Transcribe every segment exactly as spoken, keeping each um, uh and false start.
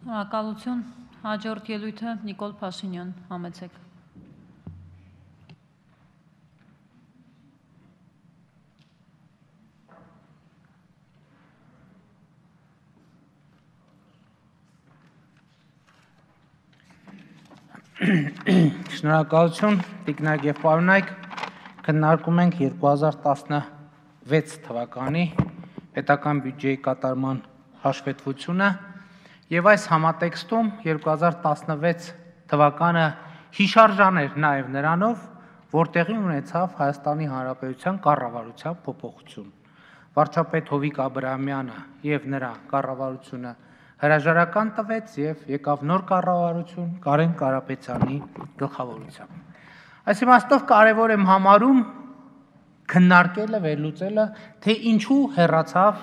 Շնորհակալություն, հաջորդ ելույթը Նիկոլ Փաշինյան, համեցեք։ Շնորհակալություն, տիկնայք եւ պարոնայք, քննարկում ենք երկու հազար տասնվեց թվականի պետական բյուջեի կատարման հաշվետվությունը եւ այս համատեքստում երկու հազար տասնվեց թվականը հիշարժան էր նաեւ նրանով, որ տեղի ունեցավ Հայաստանի Հանրապետության կառավարության փոփոխություն։ Վարչապետ Հովիկ Աբրահամյանը եւ նրա կառավարությունը հրաժարական տվեց եւ եկավ նոր կառավարություն Կարեն Կարապետյանի գլխավորությամբ։ Այս իմաստով կարևոր եմ համարում քննարկելը, վերլուծելը, թե ինչու հեռացավ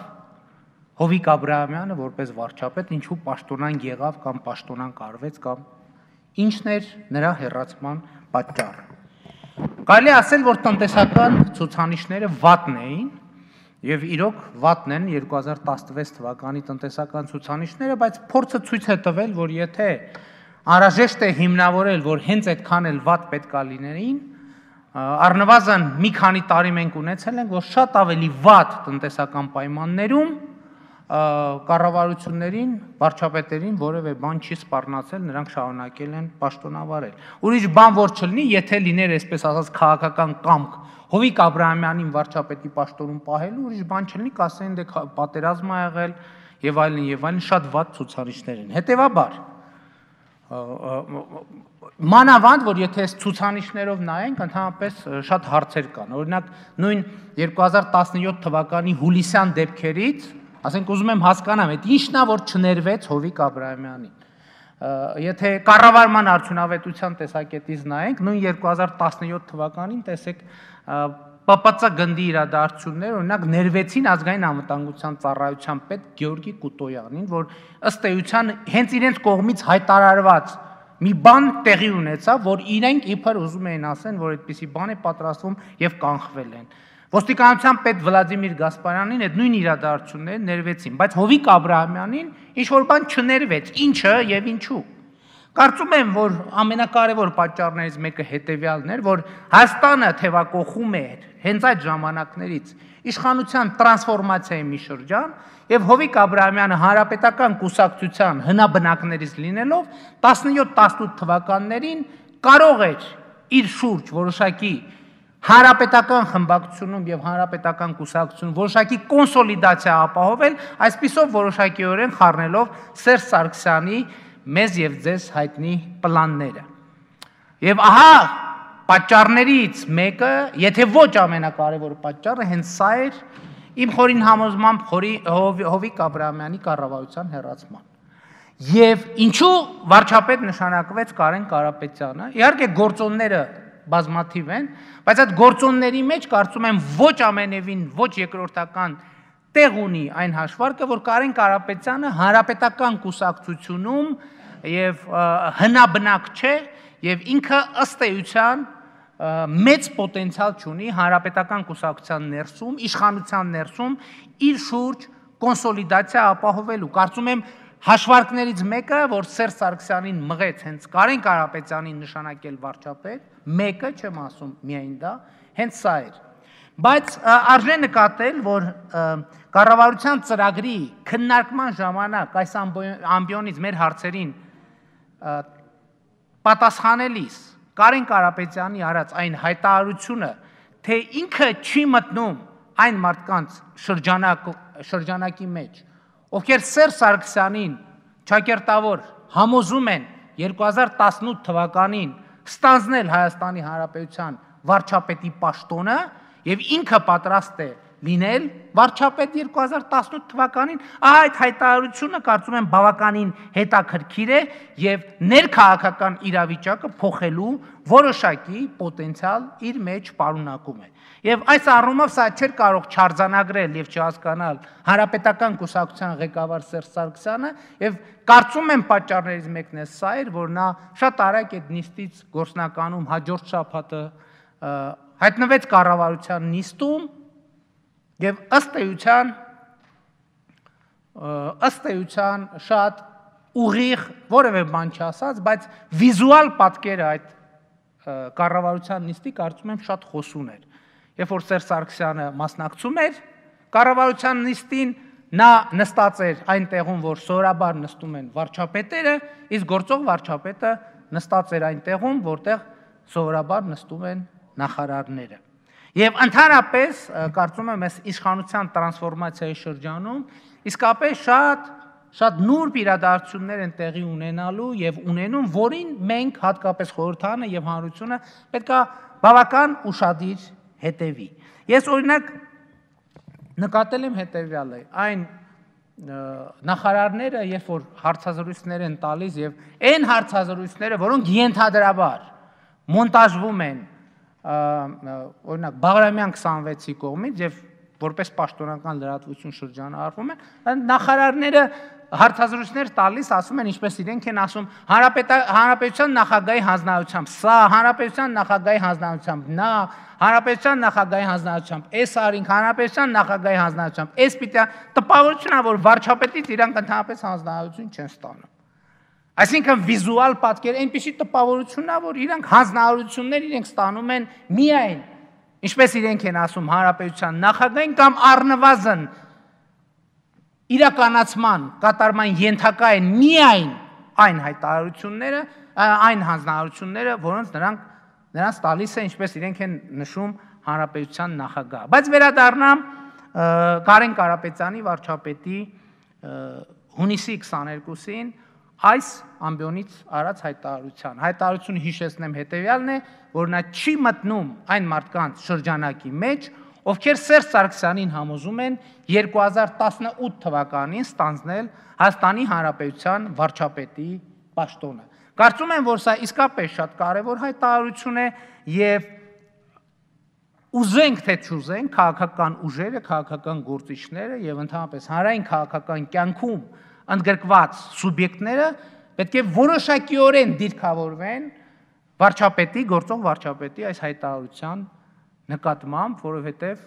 Հովիկ Աբրահամյանը որպես վարչապետ, ինչու պաշտոնան եղավ կամ պաշտոնան կարվեց կամ ինչն էր նրա հեռացման պատճառը։ Կարելի ասել, որ տնտեսական ցուցանիշները վատն էին եւ իրոք վատն են երկու հազար տասնվեց թվականի տնտեսական ցուցանիշները, բայց փորձը ցույց է տվել, որ եթե անհրաժեշտ է հիմնավորել, որ հենց այդքան էլ վատ պետքա լինեին, առնվազն մի քանի տարի մենք ունեցել ենք, որ շատ ավելի վատ տնտեսական պայմաններում կառավարություններին, վարչապետերին որևէ բան չի սպառնացել, նրանք շարունակել են պաշտոնավարել։ Ուրիշ բան որ չլինի, եթե լիներ այսպես ասած քաղաքական կամք Հովիկ Աբրահամյանին վարչապետի պաշտոնում պահելու, ուրիշ բան չլինի, կասեն դե պատերազմ ա եղել եւ այլն եւ այլն, շատ վատ ցուցանիշներ են։ Հետեւաբար մանավանդ որ եթե այս ցուցանիշներով նայենք, ընդհանրապես շատ հարցեր կան։ Օրինակ նույն երկու հազար տասնյոթ թվականի հուլիսյան դեպքերից, ասենք ուզում եմ հասկանամ, այդ ի՞նչն է որ չներվեց Հովիկ Աբրահամյանին։ Եթե կառավարման արդյունավետության տեսակետից նայենք, նույն երկու հազար տասնյոթ թվականին տեսեք Պ Պ Ծ գնդի իրադարձություններ, օրինակ ներվեցին ազգային անվտանգության ծառայության պետ Գեորգի Կուտոյանին, որ ըստ էության հենց իրենց կողմից հայտարարված մի բան տեղի ունեցավ, որ իրենք իբր ուզում էին ասեն, որ այդպիսի բան է պատրաստվում եւ կանխվել են։ Ոստիկանության պետ Վլադիմիր Գասպարյանին այդ նույն իրադարձությունները ներվեցին, բայց Հովիկ Աբրահամյանին ինչ որ բան չներվեց, ինչը եւ ինչու։ Կարծում եմ, որ ամենակարևոր պատճառներից մեկը հետեւյալն էր, որ Հայաստանը թևակողում էր հենց այդ ժամանակներից իշխանության տրանսֆորմացիայի մի շրջան եւ Հովիկ Աբրահամյանը հանրապետական կուսակցության հնաբնակներից լինելով տասնյոթ տասնութ թվականներին կարող էր իր շուրջ որոշակի հանրապետական խմբակցությունում եւ հանրապետական կուսակցությունում որոշակի կոնսոլիդացիա ապահովել, այսպիսով որոշակիորեն խառնելով Սերժ Սարգսյանի մեզ եւ ձեզ հայտնի պլանները։ Եւ ահա պատճառներից մեկը, եթե ոչ ամենակարևոր պատճառը, հենց սա էր իմ խորին համոզմամբ Հովիկ Աբրահամյանի կառավարության հեռացման։ Եվ ինչու վարչապետ նշանակվեց Կարեն Կարապետյանը։ Իհարկե գործոնները բազմաթիվ են, բայց այդ գործոնների մեջ կարծում եմ ոչ ամենևին, ոչ երկրորդական տեղ ունի այն հաշվարկը, որ Կարեն Կարապետյանը հանրապետական կուսակցությունում եւ հնաբնակ չէ եւ ինքը ըստ էության մեծ պոտենցիալ ունի հանրապետական կուսակցության ներսում, իշխանության ներսում իր շուրջ կոնսոլիդացիա ապահովելու։ Կարծում եմ հաշվարկներից մեկը, որ Սերժ Սարգսյանին մղեց հենց Կարեն Կարապետյանին նշանակել վարչապետ, մեկը չեմ ասում միայն դա, հենց սա էր։ Բայց արժե նկատել, որ կառավարության ծրագրի քննարկման ժամանակ այս ամբիոնից մեր հարցերին պատասխանելիս Կարեն Կարապետյանի արած այն հայտարարությունը, թե ինքը չի մտնում այն մարդկանց շրջանակի մեջ, ովքեր Սերժ Սարգսյանին ճակերտավոր համոզում են երկու հազար տասնութ թվականին ստանձնել Հայաստանի Հանրապետության վարչապետի պաշտոնը եւ ինքը պատրաստ է լինել վարչապետ երկու հազար տասնութ թվականին, ահա այդ հայտարարությունը կարծում եմ բավականին հետաքրքիր է եւ ներքաղաքական իրավիճակը փոխելու որոշակի պոտենցիալ իր մեջ պարունակում է։ Եվ այս առումով սա չէր կարող չարձանագրել եւ չհասկանալ հանրապետական կուսակցության ղեկավար Սերժ Սարգսյանը եւ կարծում եմ պատճառներից մեկն է սա էր, որ նա շատ արագ այդ նիստից գործնականում հաջորդ շաբաթը հայտնվեց կառավարության նիստում եւ ըստ էության ըստ էության շատ ուղիղ որևէ բան չասած, բայց վիզուալ պատկերը այդ կառավարության նիստի կարծում եմ շատ խոսուն էր։ Երբ որ Սերժ Սարգսյանը մասնակցում էր կառավարության նիստին, նա նստած էր այն տեղում, որ սովորաբար նստում են վարչապետերը, իսկ գործող վարչապետը նստած էր այն տեղում, որտեղ սովորաբար նստում են նախարարները։ Եվ ընդհանրապես կարծում եմ այս իշխանության տրանսֆորմացիայի շրջանում իսկապես շատ շատ նուրբ իրադարձություններ են տեղի ունենալու եւ ունենում, որին մենք հատկապես խորհրդարանը եւ հանրությունը պետքա բավական ուշադիր հետևի։ Ես օրինակ նկատել եմ հետեւյալը, այն նախարարները, երբ որ հարցազրույցներ են տալիս եւ այն հարցազրույցները, որոնք ենթադրաբար մոնտաժվում են, օրինակ Բաղրամյան քսանվեցի կողմից եւ որպես պաշտոնական լրատվություն շրջանառվում են, նախարարները հարցազրույցներ տալիս, ասում են, ինչպես իրենք են ասում, հանրապետության նախագահի հանձնարարությամբ սա, հանրապետության նախագահի հանձնարարությամբ նա, հանրապետության նախագահի հանձնարարությամբ այս արինք, հանրապետության նախագահի հանձնարարությամբ այս պիտի տպավորությունն է, որ վարչապետից իրանք ընդհանրապես հանձնարարություն չեն ստանում։ Այսինքն վիզուալ պատկեր այնպիսի տպավորությունն է, որ իրանք հանձնարարություններ իրենք ստանում են միայն, ինչպես իրենք են ասում, հանրապետության նախագահին կամ առնվազն իրականացման կատարման ենթակա են միայն այն հայտարարությունները, այն հանձնարարությունները, որոնց նրանք նրանց տալիս է, ինչպես իրենք են նշում, հանրապետության նախագահ։ Բայց վերադառնամ Կարեն Կարապետյանի վարչապետի հունիսի քսաներկուսին այս ամբիոնից արած հայտարարության։ Հայտարարությունը հիշեցնեմ հետևյալն է, որ նա չի մտնում այն մարդկանց շրջանակի մեջ, ովքեր Սերժ Սարգսյանին համոզում են երկու հազար տասնութ թվականին ստանձնել Հայաստանի Հանրապետության վարչապետի պաշտոնը։ Կարծում եմ, որ սա իսկապես շատ կարևոր հայտարարություն է եւ ուզենք թե չուզենք, քաղաքական ուժերը, քաղաքական գործիչները եւ ընդհանրապես հանրային քաղաքական կյանքում ընդգրկված սուբյեկտները պետք է որոշակիորեն դիրքավորվեն վարչապետի, գործող վարչապետի այս հայտարարության նկատմամբ, որովհետև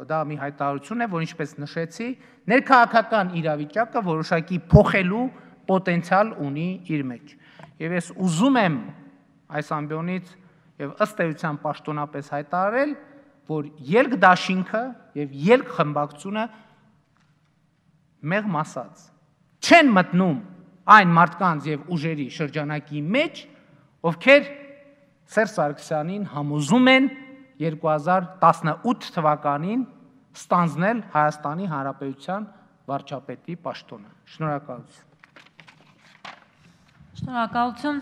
դա մի հայտարարություն է, որ ինչպես նշեցի, ներքաղաքական իրավիճակը որոշակի փոխելու պոտենցիալ ունի իր մեջ։ Եվ ես ուզում եմ այս ամբիոնից եւ ըստ էության պաշտոնապես հայտարարել, որ ելք-դաշինքը եւ ելք-խմբակցությունը մեղմ ասած չեն մտնում այն մարդկանց եւ ուժերի շրջանակի մեջ, ովքեր Սերժ Սարգսյանին համոզում են երկու հազար տասնութ թվականին ստանձնել Հայաստանի Հանրապետության վարչապետի պաշտոնը։ Շնորհակալություն։ Շնորհակալություն։